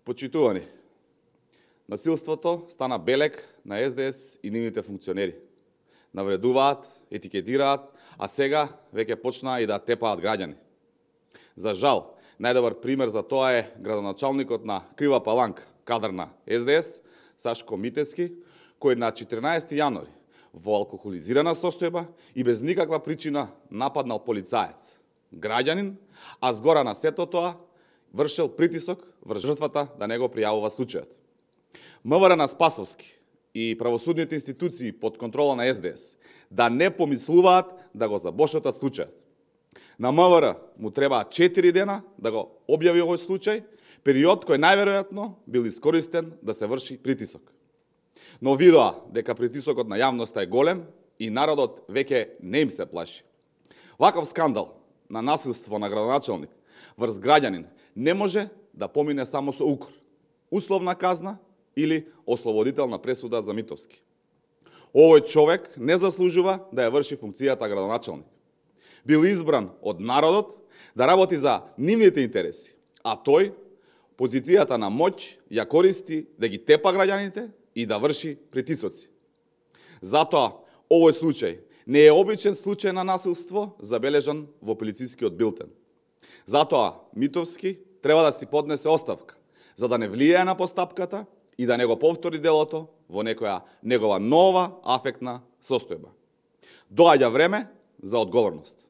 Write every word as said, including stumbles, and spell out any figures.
Почитувани, насилството стана белег на Ес Де Ес и нивните функционери. Навредуваат, етикетираат, а сега веќе почнаа и да тепаат граѓани. За жал, најдобар пример за тоа е градоначалникот на Крива Паланка, кадар на Ес Де Ес, Сашко Митевски, кој на четиринаесети јануари во алкохолизирана состојба и без никаква причина нападнал полицаец, граѓанин, а згора на сето тоа вршел притисок врз жртвата да не го пријавува случајот. М В Р на Спасовски и правосудните институции под контрола на Ес Де Ес да не помислуваат да го забошотат случајот. На М В Р му требаа четири дена да го објави овој случај, период кој најверојатно бил искористен да се врши притисок. Но видоа дека притисокот на јавноста е голем и народот веќе не им се плаши. Ваков скандал на насилство на градоначалник врз граѓанин не може да помине само со укор, условна казна или ослободителна пресуда за Митовски. Овој човек не заслужува да ја врши функцијата градоначалник. Бил избран од народот да работи за нивните интереси, а тој позицијата на моќ ја користи да ги тепа граѓаните и да врши притисоци. Затоа овој случај не е обичен случај на насилство забележан во полицискиот билтен. Затоа Митовски треба да си поднесе оставка, за да не влијае на постапката и да не го повтори делото во некоја негова нова афектна состојба. Доаѓа време за одговорност.